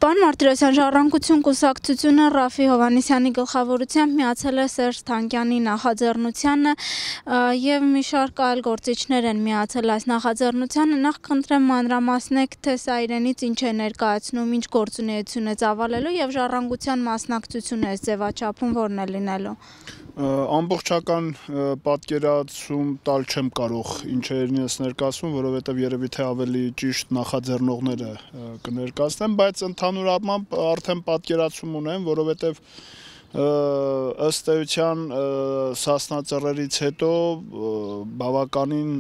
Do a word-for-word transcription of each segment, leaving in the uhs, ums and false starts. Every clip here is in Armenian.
Պարոն Մարտիրոսյան, Ժառանգություն կուսակցությունը Ռաֆֆի Հովհաննիսյանի գլխավորությամբ միացել է Սերժ Թանկյանի նախաձեռնությանը եւ մի շարք այլ գործիչներ են միացել այս նախաձեռնությանը։ Նախ խնդրեմ մանրամասնեք, թե սա իրենից ինչ է ներկայացնում, ինչ գործունեություն է ծավալելու եւ Ժառանգության մասնակցությունը այս ձևաչափում որն է լինելու։ Ամբողջական պատկերացում տալ չեմ կարող ինչ է իրենից ներկայացում, որովհետև երևի թե ավելի ճիշտ նախաձեռնողները կներկայացնեն, բայց ընդհանուր առմամբ արդեն պատկերացում ունեմ, որովհետև ըստ էության Սասնա հետո բավականին,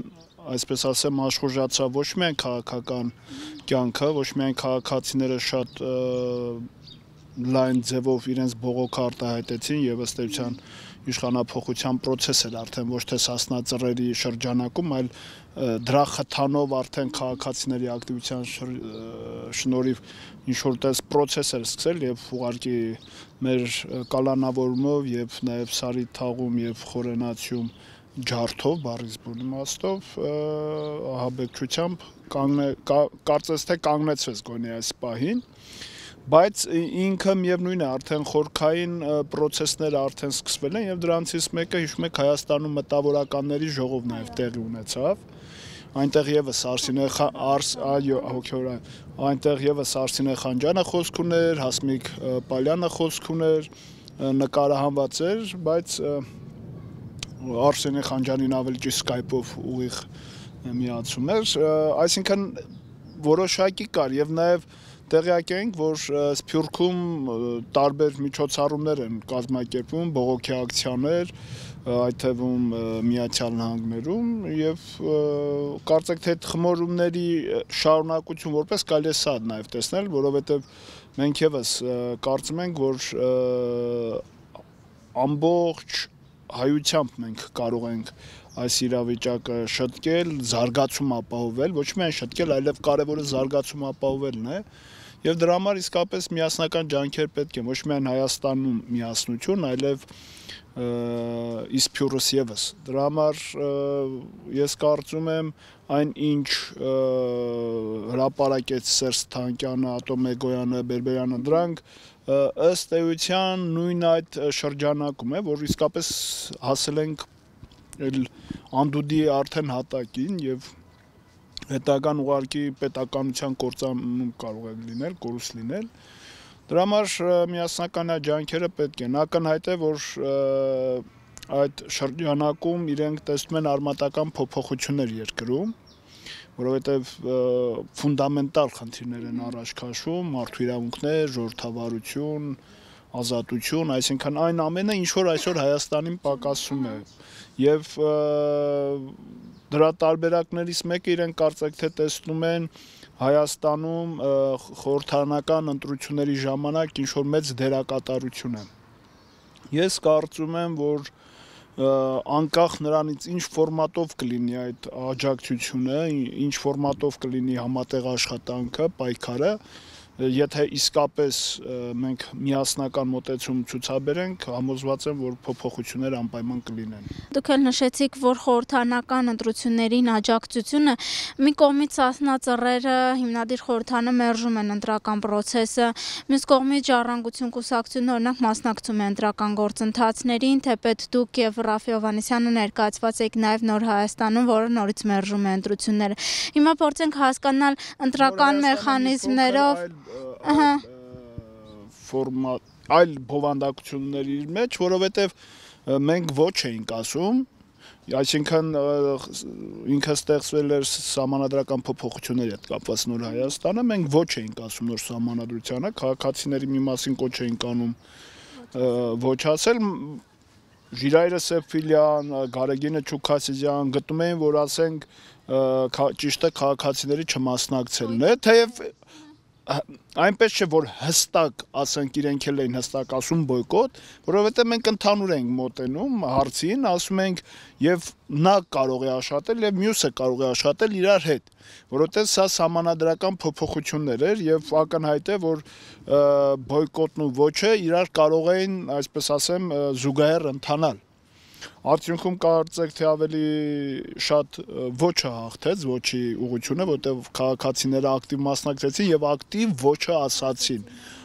այսպես ասեմ, աշխուժացավ ոչ միայն քաղաքական կյանքը, ոչ միայն քաղաքացիները շատ լայն ձևով իրենց բողոքը արտահայտեցին եւ ըստ էության իշխանափոխության process էր արդեն ոչ թե Սասնա ծռերի շրջանակում, այլ դրա խթանով արդեն քաղաքացիների ակտիվության շնորհիվ ինչ որ տես process էր սկսել եւ ուղղակի մեր կալանավորումով եւ նաեւ Սարի թաղում եւ Խորենացիում ջարդով, բառից բուն իմաստով ահաբեկչությամբ կարծես թե կանգնեցվեց գոնե այս պահին, բայց ինքը միևնույն է արդեն խորքային process-ները արդեն սկսվել են եւ դրանցից մեկը հիշում եք Հայաստանում մտավորականների ժողով նաեւ տեղի ունեցավ, այնտեղ եւս Արսինե այո հոգեորեն այնտեղ եւս Արսինե Խանջյանը խոսք ուներ, Հասմիկ Պալյանը խոսք ուներ, նկարահանված էր, բայց Արսենե Խանջյանին ավելի ճիշտ Skype-ով ուղիղ միացում էր, այսինքն որոշակի կար եւ նաեւ տեղյակ ենք, որ Սփյուռքում տարբեր միջոցառումներ են կազմակերպվում, բողոքի ակցիաներ, այդ թվում Միացյալ Նահանգներում եւ կարծեք թե այդ խմորումների շարունակություն որպես կարելի է սա նաեւ տեսնել, որովհետեւ մենք եւս կարծում ենք, որ ամբողջ հայությամբ մենք կարող ենք այս իրավիճակը շտկել, զարգացում ապահովել, ոչ միայն շտկել, այլև կարևորը զարգացում ապահովելն է, եւ դրա համար իսկապես միասնական ջանքեր պետք է ոչ միայն Հայաստանում միասնություն, այլև Իսփյուռս եւս։ Դրա համար ես կարծում եմ այն ինչ հրապարակեց Սերժ Թանկյանը, Ատոմ Էգոյանը, Բերբերյանը, դրանք ըստ էության նույն այդ շրջանակում է, որ իսկապես հասել ենք անդուդի արդեն հատակին եւ հետագան ուղարկի պետականության կործանում կարող է լինել, կորուս լինել։ Դրա համար միասնական ջանքերը պետք են։ Ակնհայտ է, որ այդ շրջանակում իրենք տեսնում են արմատական փոփոխություններ երկրում, որովհետեւ ֆունդամենտալ խնդիրներ են առաջ քաշում, մարդու իրավունքներ, ժողովրդավարություն, ազատություն, այսինքն այն ամենը, ինչ որ այսօր Հայաստանին պակասում է եւ դրա տարբերակներից մեկը իրենք կարծեք թե տեսնում են Հայաստանում խորհրդարանական ընտրությունների ժամանակ ինչ որ մեծ դերակատարություն է։ Ես կարծում եմ, որ անկախ նրանից ինչ ֆորմատով կլինի այդ աջակցությունը, ինչ ֆորմատով կլինի համատեղ աշխատանքը, պայքարը, եթե իսկապես մենք միասնական մոտեցում ցուցաբերենք, համոզված եմ, որ փոփոխություններ անպայման կլինեն։ Դուք էլ նշեցիք, որ խորհրդարանական ընտրություններին աջակցությունը մի կողմից Սասնա ծռերը հիմնադիր խորհրդարանը մերժում են ընտրական process-ը, մյուս կողմից Ժառանգություն կուսակցությունը օրինակ մասնակցում է ընտրական գործընթացներին, թեպետ դուք եւ Ռաֆֆի Հովհաննիսյանը ներկայացված եք նաեւ Նոր Հայաստանում, որը նորից մերժում է ընտրությունները։ Հիմա փորձենք հասկանալ ընտրական մեխանիզմներով ֆորմատ այլ բովանդակությունների մեջ, որովհետև մենք ոչ էինք ասում, այսինքն ինքը ստեղծվել էր սահմանադրական փոփոխությունների հետ կապված Նոր Հայաստանը, մենք ոչ էինք ասում նոր սահմանադրությանը, քաղաքացիների մի մասին կոչ էինք անում ոչ ասել, Ժիրայրը Սեփիլյան, Գարեգինը Չուքասիզյան գտնում էին, որ ասենք ճիշտը քաղաքացիների չմասնակցելն է, թեև այնպես չէ, որ հստակ ասենք իրենք էլ էին հստակ ասում բոյկոտ, որովհետև մենք ընդհանուր ենք մոտենում հարցին, ասում ենք եւ նա կարող է աշխատել եւ մյուսը կարող է աշխատել իրար հետ, որովհետև սա սահմանադրական փոփոխություններ էր եւ ակնհայտ է, որ բոյկոտն ու ոչը իրար կարող էին, այսպես ասեմ, զուգահեռ ընթանալ։ Արդյունքում կարծեք թե ավելի շատ ոչը հաղթեց, ոչի ուղղությունը, որտեղ քաղաքացիները ակտիվ մասնակցեցին եւ ակտիվ ոչը ասացին։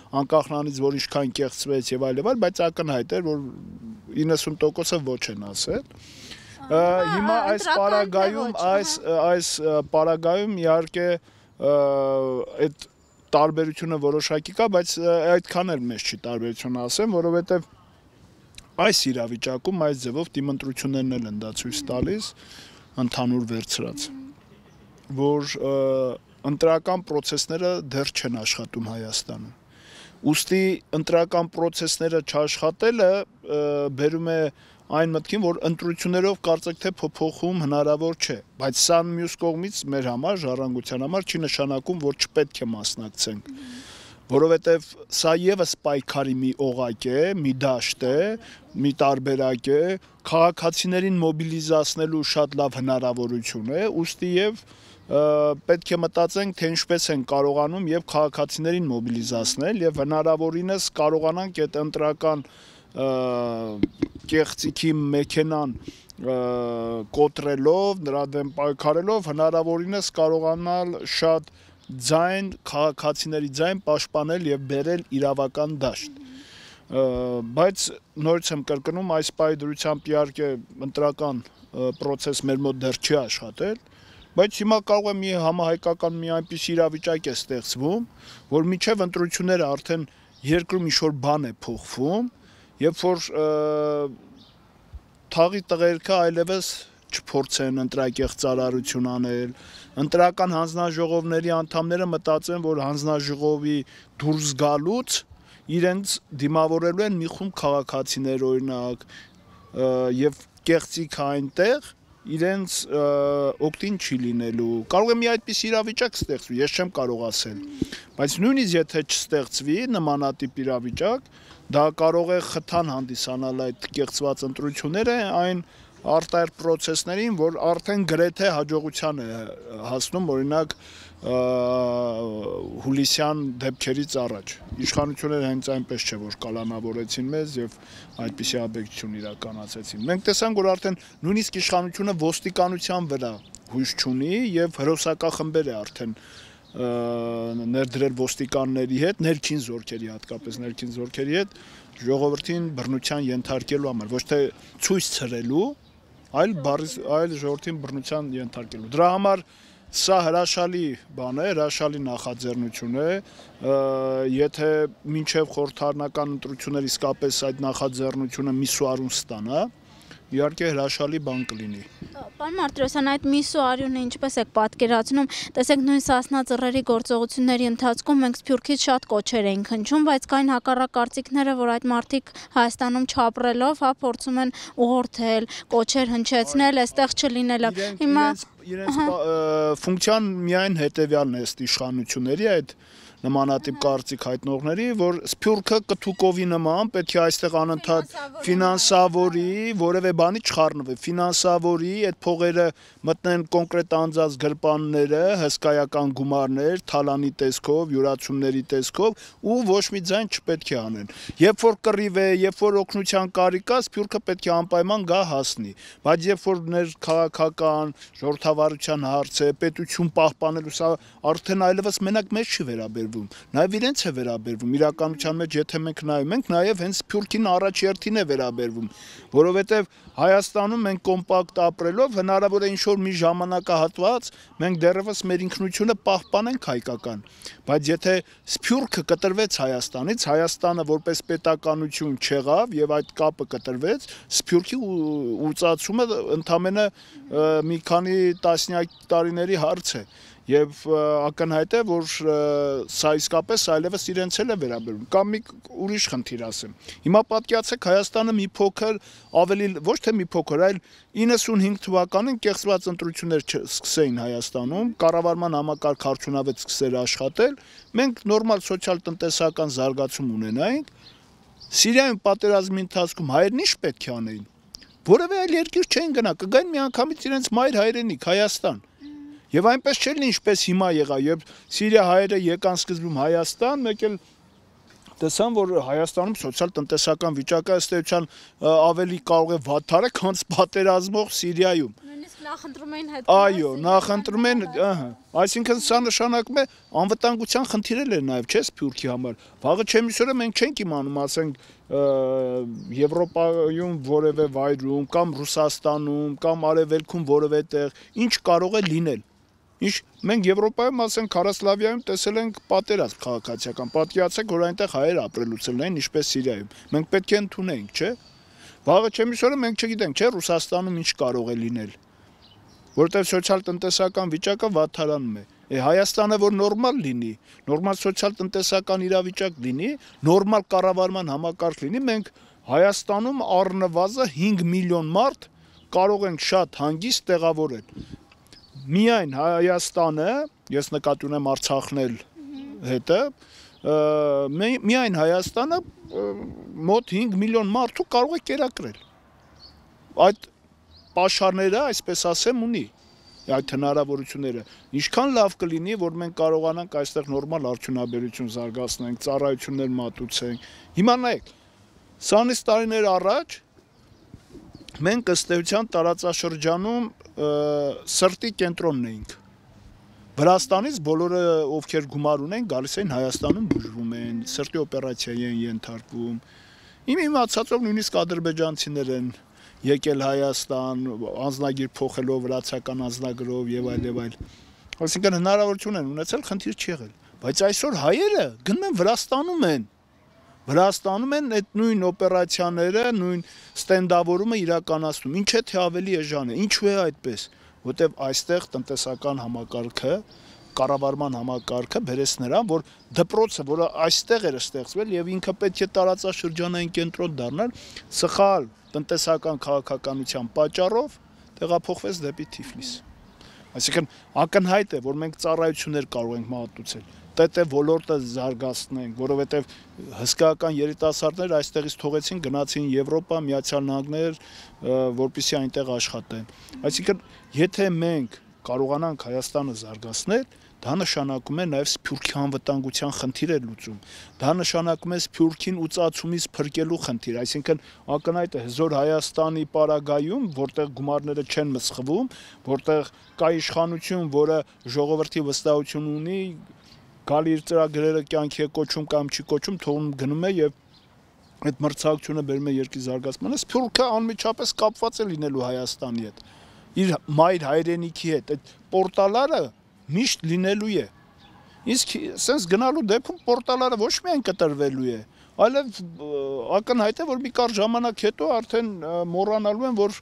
Անկախ նրանից, որ ինչքան կեղծվեց եւ այլ եւ այլ, բայց ակնհայտ էր, որ իննսուն տոկոսը ոչ են ասել։ Հիմա այս պարագայում, այս այս պարագայում իհարկե այդ տարբերությունը որոշակի կա, բայց այդքան էլ մեծ չի տարբերությունը ասեմ, որովհետեւ այս իրավիճակում այս ձևով դիմընտրություններն էլ են դա ցույց տալիս ընդհանուր վերցրած, որ ընտրական process-ները դեռ չեն աշխատում Հայաստանում։ Ուստի ընտրական process-ները չաշխատելը բերում է այն մտքին, որ ընտրություններով կարծեք թե փոփոխում հնարավոր չէ, բայց սա մյուս կողմից մեր համար, ժառանգության համար չի նշանակում, որ չպետք է մասնակցենք։ Որովհետև սա եւս պայքարի մի օղակ է, մի դաշտ է, մի տարբերակ է, քաղաքացիներին մոբիլիզացնելու շատ լավ հնարավորություն է, ուստի եւ պետք է մտածենք, թե ինչպես են կարողանում եւ քաղաքացիներին մոբիլիզացնել եւ հնարավորինս կարողանանք այդ ընտրական կեղծիքի մեքենան կոտրելով, նրա դեմ պայքարելով հնարավորինս կարողանալ շատ ձայն քաղաքացիների ձայն պաշտպանել եւ բերել իրավական դաշտ, բայց նորից եմ կրկնում, այս պայդրությամբ իհարկե ընտրական process մեր մոտ դեռ չի աշխատել, բայց հիմա կարող է մի համահայկական մի այնպիսի իրավիճակ է ստեղծվում, որ միջև ընտրությունները արդեն երկրում ինչ-որ բան է փոխվում, երբ որ թաղի տղերքը այլևս չփորձեն ընտրակեղծարարություն անել, ընտրական հանձնաժողովների անդամները մտածեն, որ հանձնաժողովի դուրս գալուց իրենց դիմավորելու են մի խումբ քաղաքացիներ օրինակ եւ կեղծիք այնտեղ իրենց օգտին չի լինելու։ Կարող է մի այդպիսի իրավիճակ ստեղծվի, ես չեմ կարող ասել, բայց նույնիսկ եթե չստեղծվի նմանատիպ իրավիճակ, դա կարող է խթան հանդիսանալ այդ կեղծված ընտրությունները այն արտահերթ process-ներին, որ արդեն գրեթե հաջողության է հասնում, օրինակ հուլիսյան դեպքերից առաջ։ Իշխանությունները հենց այնպես չէ, որ կալանավորեցին մեզ եւ այդպիսի աբեկցություն իրականացրեցին։ Մենք տեսանք, որ արդեն նույնիսկ իշխանությունը ոստիկանության վրա հույս չունի եւ հրոսակախմբեր է արդեն ներդրել ոստիկանների հետ, ներքին զորքերի, հատկապես ներքին զորքերի հետ ժողովրդին բռնության ենթարկելու համար, ոչ թե ցույց ցրելու, այլ այլ ժողովրդին բռնության ենթարկելու։ Դրա համար սա հրաշալի բան է, հրաշալի նախաձեռնություն է, եթե մինչև խորհրդարանական ընտրություններ իսկապես այդ նախաձեռնությունը միսուարուն ստանա, իհարկե հրաշալի բան կլինի։ Պարոն Մարտիրոսյան, այդ միսուարյունը ինչպես եք պատկերացնում, տեսեք նույն Սասնա ծռերի գործողությունների ընթացքում մենք Սփյուռքից շատ կոչեր էինք հնչում, բայց կային հակառակ կարծիքները, որ այդ մարդիկ Հայաստանում չապրելով, հա, փորձում են ուղղորդել, կոչեր հնչեցնել, այստեղ չլինելը։ Հիմա իրենց ֆունկցիան միայն հետեւյալն է ըստ իշխանությունների այդ նմանատիպ կարծիք հայտնողների, որ Սփյուռքը կթուկովի նման պետք է այստեղ անընդհատ ֆինանսավորի, որևէ բանի չխառնվի, ֆինանսավորի, այդ փողերը մտնեն կոնկրետ անձած գրպանները, հսկայական գումարներ, թալանի տեսքով, յուրացումների տեսքով ու ոչ մի ձայն չպետք է անեն։ Երբ որ կռիվ է, երբ որ օգնության կարիք կա, Սփյուռքը պետք է անպայման գա հասնի, բայց երբ որ ներքաղաքական ժողովրդավարության հարց է, պետություն պահպանելու, սա արդեն այլևս մենակ մեզ չի վերաբերվում, նաև իրենց է վերաբերվում, իրականության մեջ եթե մենք նայում ենք, նաև հենց Սփյուռքին առաջերտին է վերաբերվում, որովհետև Հայաստանում մենք կոմպակտ ապրելով հնարավոր է ինչ-որ մի ժամանակահատված մենք դեռևս մեր ինքնությունը պահպանենք հայկական, բայց եթե Սփյուռքը կտրվեց Հայաստանից, Հայաստանը որպես պետականություն չեղավ եւ այդ կապը կտրվեց, Սփյուռքի ուծացումը ընդամենը մի քանի տասնյակ տարիների հարց է։ Եվ ակնհայտ է, որ սա իսկապես այլևս իրենց էլ է վերաբերում։ Կամ մի ուրիշ խնդիր ասեմ։ Հիմա պատկերացեք Հայաստանը մի փոքր ավելի ոչ թե մի փոքր, այլ իննսունհինգ թվականին կեղծված ընտրություններ սկսեին Հայաստանում, կառավարման համակարգ արդյունավետ սկսեր աշխատել, մենք նորմալ սոցիալ-տնտեսական զարգացում ունենայինք։ Սիրիայում պատերազմի ընթացքում հայերն ինչ պետք է անեին։ Որևէ այլ երկիր չէին գնա, կգային միանգամից իրենց մայր հայրենիք Հայաստան։ Եվ այնպես չէ լինի, ինչպես հիմա եղավ, երբ Սիրիա հայերը եկան սկզբում Հայաստան, մեկ էլ տեսան, որ Հայաստանում սոցիալ-տնտեսական վիճակը ըստ էության ավելի կարող է վատթարը, քան պատերազմող Սիրիայում։ Նույնիսկ նախընտրում էին հետ։ Այո, նախընտրում են, ըհը։ Այսինքն սա նշանակում է անվտանգության խնդիրել է նաև, չէ՞, Սփյուռքի համար։ Վաղը չեմիսօրը մենք չենք իմանում, ասենք Եվրոպայում որևէ վայրում կամ Ռուսաստանում կամ Արևելքում որևէ տեղ ինչ կարող է լինել։ Ինչ մենք Եվրոպայում, ասենք Քարասլավիայում տեսել ենք պատերազմ քաղաքացիական, պատկերացրեք, որ այնտեղ հայեր ապրելուց են, ինչպես Սիրիայում։ Մենք պետք է ընդունենք, չէ՞։ Վաղը չեմիսօրը մենք չգիտենք, չէ՞, Ռուսաստանում ինչ կարող է լինել։ Որտեղ սոցիալ-տնտեսական վիճակը վատթարանում է։ Է Հայաստանը որ նորմալ լինի, նորմալ սոցիալ-տնտեսական իրավիճակ լինի, նորմալ կառավարման համակարգ լինի, մենք Հայաստանում առնվազն հինգ միլիոն մարդ կարող ենք շատ հանգիստ տեղավորել։ Միայն Հայաստանը, ես նկատի ունեմ Արցախն էլ հետը, միայն Հայաստանը մոտ հինգ միլիոն մարդու կարող է կերակրել։ Այդ պաշարները, այսպես ասեմ, ունի այդ հնարավորությունները։ Ինչքան լավ կլինի, որ մենք կարողանանք այստեղ նորմալ արդյունաբերություն զարգացնենք, ծառայություններ մատուցենք։ Հիմա նայեք, քսանից տարիներ առաջ մենք ըստ էության տարածաշրջանում սրտի կենտրոնն էինք։ Վրաստանից բոլորը, ովքեր գումար ունեն, գալիս են Հայաստանում բուժվում են, սրտի օպերացիայի են ենթարկվում։ Իմ իմացածով նույնիսկ ադրբեջանցիներ են եկել Հայաստան, անձնագիր փոխելով, վրացական անձնագրով եւ այլ եւ այլ։ Այսինքն հնարավորություն են ունեցել, խնդիր չի եղել։ Բայց այսօր հայերը գնում են Վրաստանում են։ Վրաստանում են այդ նույն օպերացիաները, նույն ստենդավորումը իրականացնում։ Ինչ է թե ավելի էժան է, ինչու է այդպես, որտեւ այստեղ տնտեսական համակարգը, կառավարման համակարգը բերեց նրան, որ դպրոցը, որը այստեղ էր ստեղծվել եւ ինքը պետք է տարածաշրջանային կենտրոն դառնալ, սխալ տնտեսական քաղաքականության պատճառով տեղափոխվեց դեպի Թիֆլիս։ Այսինքն ակնհայտ է, որ մենք ծառայություններ կարող ենք մատուցել, ՏՏ ոլորտը զարգացնենք, որովհետև հսկայական երիտասարդներ այստեղից թողեցին, գնացին Եվրոպա, Միացյալ Նահանգներ, որպեսզի այնտեղ աշխատեն։ Այսինքն, եթե մենք կարողանանք Հայաստանը զարգացնել, դա նշանակում է նաև Սփյուռքի անվտանգության խնդիր է լուծում։ Դա նշանակում է Սփյուռքին ուծացումից փրկելու խնդիր, այսինքն ակնհայտ է հզոր Հայաստանի պարագայում, որտեղ գումարները չեն մսխվում, որտեղ կա իշխանություն, որը ժողովրդի վստահություն ունի, գալի իր ծրագրերը կյանքի է կոչում կամ չի կոչում, թողում գնում է եւ այդ մրցակցությունը բերում է երկրի զարգացմանը, Սփյուռքը անմիջապես կապված է լինելու Հայաստանի հետ, իր մայր հայրենիքի հետ, այդ պորտալարը միշտ լինելու է։ Իսկ սենց գնալու դեպքում պորտալարը ոչ միայն կտրվելու է, այլև ակնհայտ է, որ մի կարճ ժամանակ հետո արդեն մոռանալու են, որ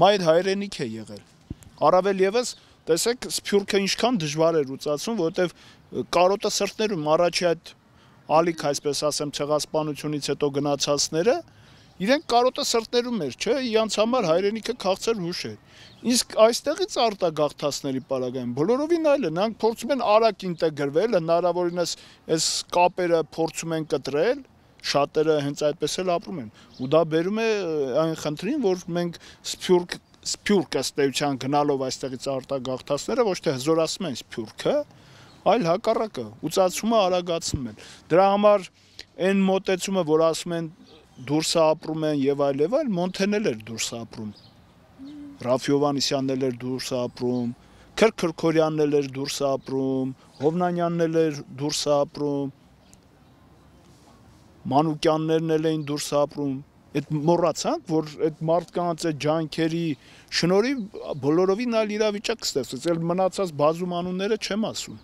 մայր հայրենիք է եղել։ Առավել եւս, տեսեք, Սփյուռքը ինչքան դժվար է լուծացում, որովհետեւ կարոտը սրտներում առաջի այդ ալիք, այսպես ասեմ, ցեղասպանությունից հետո գնացածները, իրենք կարոտը սրտներում էր, չէ, իրանց համար հայրենիքը քաղցր հուշ էր։ Իսկ այստեղից արտագաղթածների պարագայում բոլորովին այլ է, նրանք փորձում են արագ ինտեգրվել, հնարավորինս այս կապերը փորձում են կտրել, շատերը հենց այդպես էլ ապրում են։ Ու դա բերում է այն խնդրին, որ մենք Սփյուռք Սփյուռք ըստ էության գնալով այստեղից արտագաղթածները ոչ թե հզորացնում են Սփյուռքը, այլ հակառակը, ուծացումը արագացնում են։ Դրա համար այն մոտեցումը, որ ասում են դուրս ապրում են եւ այլ եւ այլ, Մոնթեն էր դուրս ապրում։ Ռաֆի Հովհաննիսյանն էր դուրս ապրում, Քրքրքորյանն էր դուրս ապրում, Հովնանյանն էր դուրս ապրում, Մանուկյաններն էին դուրս ապրում։ Այդ մոռացանք, որ այդ մարդկանց այդ ջանքերի շնորհիվ բոլորովին այլ իրավիճակ ստեղծվեց, այլ մնացած բազում անունները չեմ ասում։